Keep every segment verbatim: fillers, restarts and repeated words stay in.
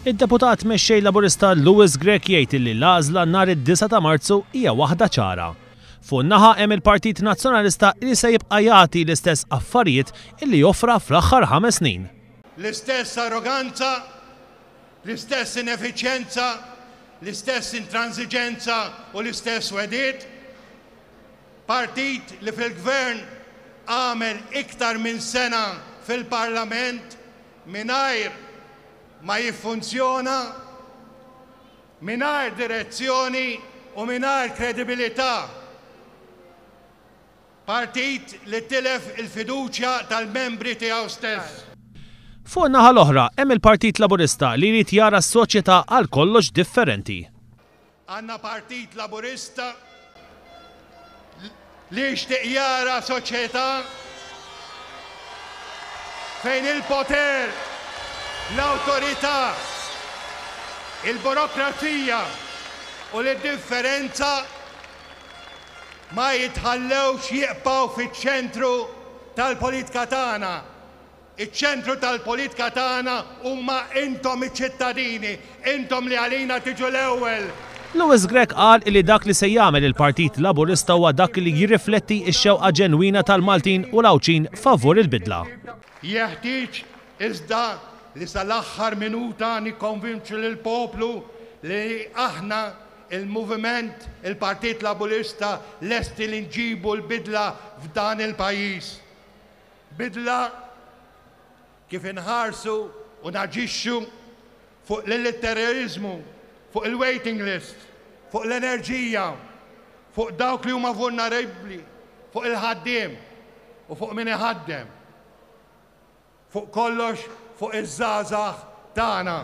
Id-deputat mexxej Laburista Louis Grech jgħid li l-għażla nhar id-disgħa ta' Marzu hija waħda ċara. Fuq naħa hemm il-Partit Nazzjonalista li se jibqa' jagħti l-istess affarijiet illi joffra fl-aħħar ħames snin. L-istess arroganza, l-istess ineffiċjenza, l-istess intransiġenza u l-istess wegħdiet. Partit li fil-gvern għamel iktar minn sena fil-Parlament mingħajr ma jiffunzjona, mingħajr direzzjoni u mingħajr kredibilità. Partit li tilef il-fiduċja tal-membri tiegħu stess. Fuq naħa l-oħra hemm il-Partit Laburista li jrid jara s-soċjetà għal kollox differenti. Għandna Partit Laburista li jixtieq jara soċjetà fejn il-poter, l-awtorità, il-burokrazija u l-differenza ma jitħallewx jibqgħu fiċ-ċentru tal-politika tagħna. Iċ-ċentru tal-politika tagħna huma intom iċ-ċittadini, intom li għalina tiġu l-ewwel. Louis Grech qal li dak li se jagħmel il-Partit Laburista huwa dak li jirrifletti x-xewqa ġenwina tal-Maltin u l-Għawdxin favur il-bidla. Jeħtieġ iżda li sal-aħħar minuta nikkonvinċu lill-poplu li aħna il-moviment, il-Partit Laburista lesti li nġibu l-bidla f'dan il-pajjiż. Bidla kif inħarsu u naġixxu fuq l-terrorizmu, fuq il-waiting list, fuq l-enerġija, fuq dawk li huma vulnerabbli, fuq il-ħaddiem u fuq min iħaddem. Fuq kollox fuq iż-żgħażagħ tagħna.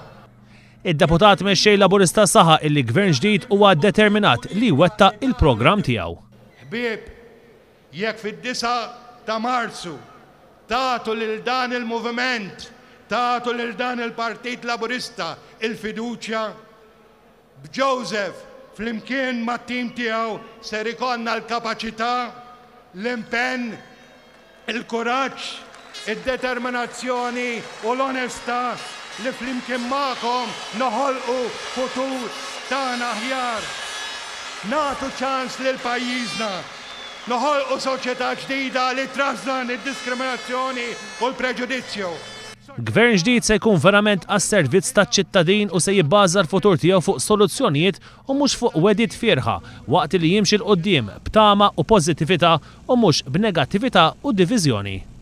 Id-deputat mexxej Laburista saħaq illi gvern ġdid huwa determinat li jwettaq il-programm tiegħu. Ħbieb, jekk fid-disgħa ta' Marzu tagħtu lil dan il-moviment, tagħtu lil dan il-Partit Laburista il-fiduċja, b'Joseph flimkien mat-tim tiegħu ser ikollna l-kapaċità, l-impenn, il-kuraġġ, id-determinazzjoni u l-onestà li flimkien magħkom noħolqu futur tagħna aħjar. Nagħtu ċans lil pajjiżna, noħolqu soċjetà ġdida li trażżan id-diskriminazzjoni u l-preġudizzju. Gvern ġdid se jkun verament għas-servizz taċ-ċittadin u se jibbaża l-futur tiegħu fuq soluzzjonijiet u mhux fuq wegħdiet fiergħa waqt li jimxi 'l quddiem b'tama u pożittività u mhux b'negattività u diviżjoni.